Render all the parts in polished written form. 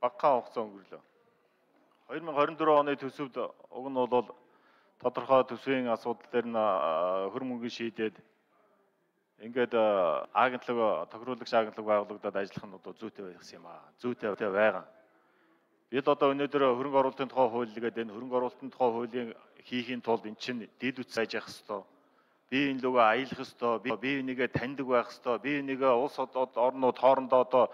багахан хугацаа өнгөрлөө. 2024 оны төсөвд уг нь бол тодорхой төсвийн асуудал дээр нь хөр мөнгө шийдээд ингээд агентлаг тохируулагч агентлаг байгуулагдаад ажиллах нь одоо зүйтэй байх юм аа. Зүйтэй байгаа. Бид одоо өнөөдөр хөрөнгө оруулалтын тухай хууль гэдэг энэ хөрөнгө оруулалтын тухай хуулийн хийхийн тулд эн чинь дэд үтс ажих хэвээр. Бие биенийгээ аялах хэвээр, бие биенийгээ таньдаг байх хэвээр, бие биенийгээ улс орнууд хоорондоо одоо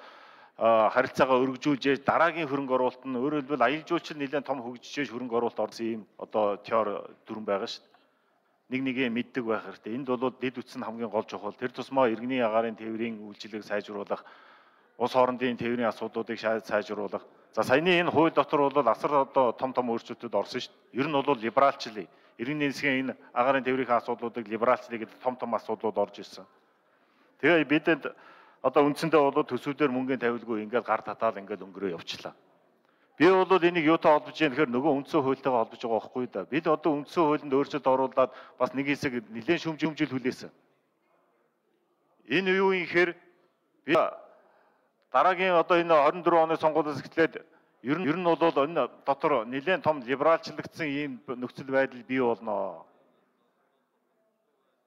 харилцаагаа өргөжүүлж дараагийн хөрөнгө оруулалт нь өөрөөр хэлбэл аялал жуулчлал нэлээд том хөгжиж хөрөнгө оруулалт орсон юм одоо теори дүрэн байгаа шүү дээ. Нэгээ мэддэг байх хэрэгтэй. Энд бол дэд үтс нь хамгийн гол чухал. Тэр тусмаа иргэний агаарын тээврийн үйлчилгээг сайжруулах, улс хоорондын тээврийн асуудлуудыг сайжруулах. За саяны энэ хууль дотор бол асар одоо том өөрчлөлтүүд орсон шүү дээ. Ер нь бол либералчлал, иргэний нийслэгийн энэ агаарын тээврийн асуудлуудыг либералчлал гэдэг том асуудлууд орж ирсэн. Тэгээ бидэд одоо үндсэндээ бол төсвүүдээр мөнгөний тавилгүй ингээд гар татаал ингээд өнгөрөө явчлаа. Би бол энийг юутай холбож яах гэхээр нөгөө үндсэн хуультайгаа холбож байгаа байхгүй да. Бид одоо үндсэн хуулинд өөрчлөлт оруулаад бас нэг хэсэг нэлээд шүмжил хүлээсэн. Энэ юу юм гэхээр би дараагийн одоо энэ 24 оны сонгуулиас эхлээд ер нь бол энэ дотор нэлээд том либералчлагдсан ийм нөхцөл байдал бий болно.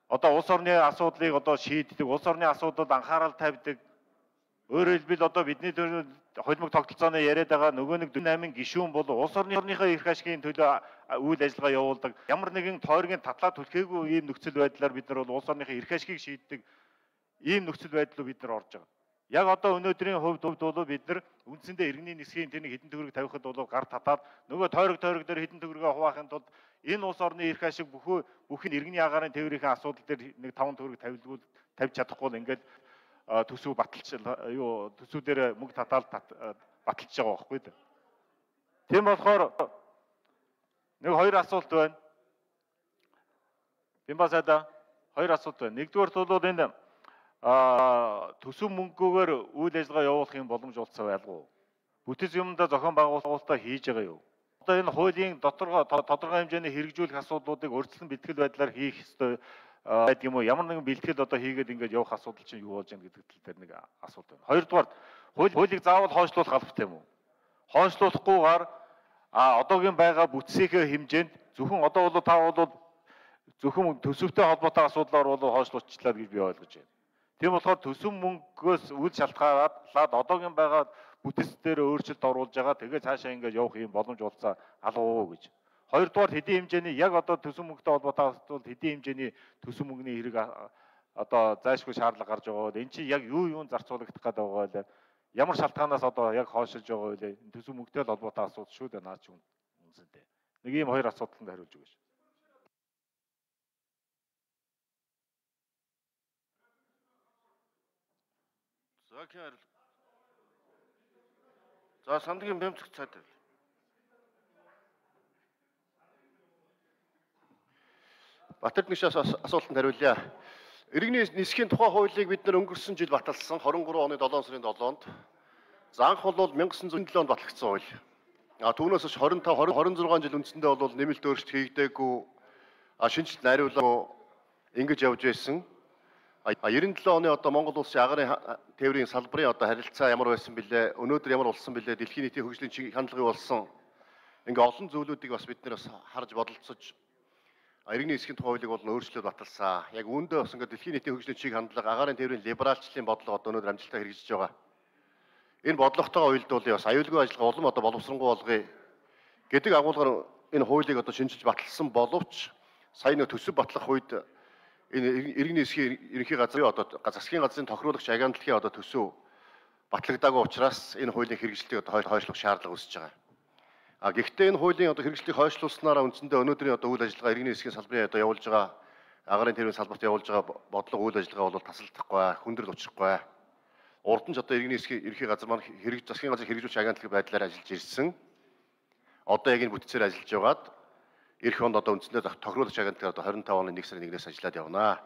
Одоо улс орны асуудлыг одоо шийддэг, улс орны асуудалд анхаарал тавьдаг. Өөрөөр хэлбэл одоо бидний холимог тогтолцооны яриад байгаа нөгөө нэг 48 гишүүн бол улс орныхоо эрх ашигын төлөө үйл ажиллагаа явуулдаг. Ямар нэгэн тойргийн татлаа түлхээгүй ийм нөхцөл байдлаар бид нар бол улс орныхоо эрх ашигыг шийддэг ийм нөхцөл байдал бид нар орж байгаа. Яг одоо өнөөдрийн хувьд бол бид нар үндсэндээ иргэний нисхийн тэрний хэдэн төгрөг тавихад бол гар татаад нөгөө тойрог дээр хэдэн төгрөгөө хуваахын тулд энэ улс орны эрх ашиг бүхэн иргэний агаарын тээврийн асуудал дээр нэг 5 төгрөг тавьж чадахгүй л ингээд төсөв төсөв дээр мөнгө татаал баталж байгаа байхгүй дээ. Тийм болохоор нэг хоёр асуулт байна. Бимбасада хоёр асуулт байна. Нэгдүгээр бол энэ төсөв мөнгөөр үйл ажиллагаа явуулахын боломж олцоо байлгүй. Бүтэц юмдаа зохион байгуулалтаа хийж байгаа юу? Одоо энэ хуулийн тодорхой хэмжээний хэрэгжүүлэх асуудлуудыг урьдчилан бэлтгэл байдлаар хийх ёстой байдаг юм уу? Ямар нэгэн бэлтгэл одоо хийгээд ингээд явах асуудал чинь юу болж байгаа гэдэг тал дээр нэг асуулт байна. Хоёрдугаар хуулийг заавал хойшлуулах албатай юм уу? Хойшлуулахгүйгээр одоогийн байгаа бүтцийнхээ хэмжээнд зөвхөн одоо бол та бол зөвхөн төсөвтэй холбоотой асуудлаар бол хойшлуулчлаа гэж би ойлгож байна. Тийм болохоор төсөв мөнгөөс үл шалтгаалаад одоогийн байгаа бүтэц дээр өөрчлөлт оруулж байгаа. Тэгээ цаашаа ингээд явах юм боломж олцоо алгуу гэж. Хоёрдугаар хэдийн хэмжээний яг одоо төсөв мөнгөтэй холбоотой асуудал хэдийн хэмжээний төсөв мөнгөний хэрэг одоо зайлшгүй шаардлага гарч байгаа бол эн чинь яг юун зарцуулагдах гэдэг байгаа вэ? Ямар шалтгаанаас одоо яг хойшилж байгаа вэ? Төсөв мөнгөтэй холбоотой асуудал шүү дээ наач үнсэнтэй. Нэг ийм хоёр асуудалд хариулж өгөөш. За Сандгийн бямцэг цаад байв. Батэрд нэгшээс асуултанд хариулъя. Иргэний нисхийн тухай хуулийг бид нар өнгөрсөн жил баталсан 23 оны 7 сарын 7-нд. За анх бол 1907 онд батлагдсан хууль. Түүнээс хойш 26 жил үндсэндээ бол нэмэлт өөрчлөлт хийгдээгүй, шинжилт найруулаагүй ингэж явж байсан. 97 оны одоо Монгол улсын агаарын тээврийн салбарын одоо харилцаа ямар байсан бэлээ, өнөөдөр ямар болсон бэлээ, дэлхийн нийтийн хөгжлийн чиг хандлагыг болсон ингээ олон зүйлүүдийг бас бид нэр бас харж бодолцож иргэний нисхийн тухай хуулийг бол өөрчлөлт баталсан. Яг үүндээ бас ингээ дэлхийн нийтийн хөгжлийн чиг хандлага, агаарын тээврийн либералчлалын бодлого одоо өнөөдөр амжилттай хэрэгжиж байгаа. Энэ бодлоготойгоо уялдуулъя, бас аюулгүй ажиллагаа улам одоо боловсронгуй болгоё гэдэг агуулгаар энэ хуулийг одоо шинжилж баталсан боловч сая нэг төсөв батлах үед энэ иргэний нисхийн ерөнхий газрын одоо засгийн газрын тохируулагч агентлагийн одоо төсөв батлагдаагүй учраас энэ хуулийн хэрэгжилтийг одоо хойшлох шаардлага үүсэж байгаа. Гэхдээ энэ хуулийн одоо хэрэгжилтийг хойшлуулснараа үндсэндээ өнөөдрийн одоо үйл ажиллагаа иргэний нисхийн салбарын одоо явуулж байгаа агаарын тээврийн салбарт явуулж байгаа бодлого үйл ажиллагаа бол тасалдахгүй, хүндрэл учрахгүй. Урд нь ч одоо иргэний нисхийн ерөнхий газар маань засгийн газрын хэрэгжүүлж агентлагийн байдлаар ажиллаж ирсэн. Одоо яг энэ бүтцээр ажиллаж байгаад эх онд одоо үндсэндээ тохируулагч агентлагаар одоо 25 оны 1 сарын 1-ээс ажиллаад явна.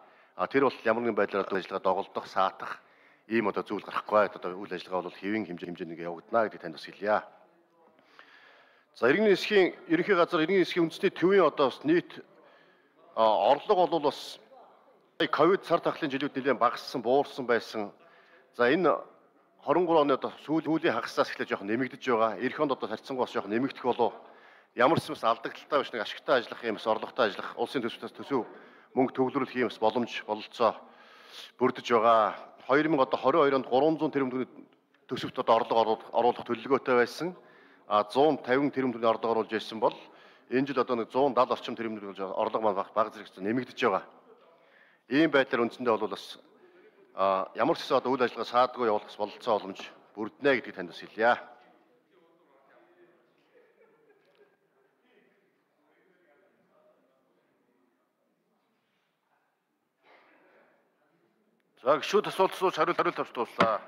Тэр бол ямар нэгэн байдлаар одоо ажиллагаа доголдох, саатах ийм одоо зүйл гарахгүй. Одоо үйл ажиллагаа бол хэвийн хэмжээнд явагдана гэдгийг танд бас хэлье. За иргэний нисхийн ерөнхий газар иргэний нисхийн үндэсний төвийн одоо бас нийт орлого бол бас ковид сар тахлын жилүүд нэлээд багассан, буурсан байсан. За энэ 23 оны одоо сүүлийн хагасаас эхлэж жоохон нэмэгдэж байгаа. Эх онд одоо харьцангуй бас жоохон нэмэгдэх болов. Ямар ч юмс алдагдaltaй биш нэг ашигтай ажиллах юм, орлоготой ажиллах, улсын төсвөөс төсөв мөнгө төвлөрүүлэх юм боломж бололцоо бүрдэж байгаа. 2022 онд 300 тэрбум төгрөгийн төсөвт одоо орлого оруулах төлөвлөгөөтэй байсан. 150 тэрбум төгрөгийн орлого оруулж ирсэн бол энэ жил одоо нэг 170 орчим тэрбум төгрөгийн орлого маань баг зэрэг нэмэгдэж байгаа. Ийм байдлаар үндсэндээ бол бас ямар ч одоо үйл ажиллагаа саадгүй явуулах бололцоо боломж бүрднэ гэдгийг танд бас хэлье. За гişүүд асуулт асууж хариулт авч дуслаа.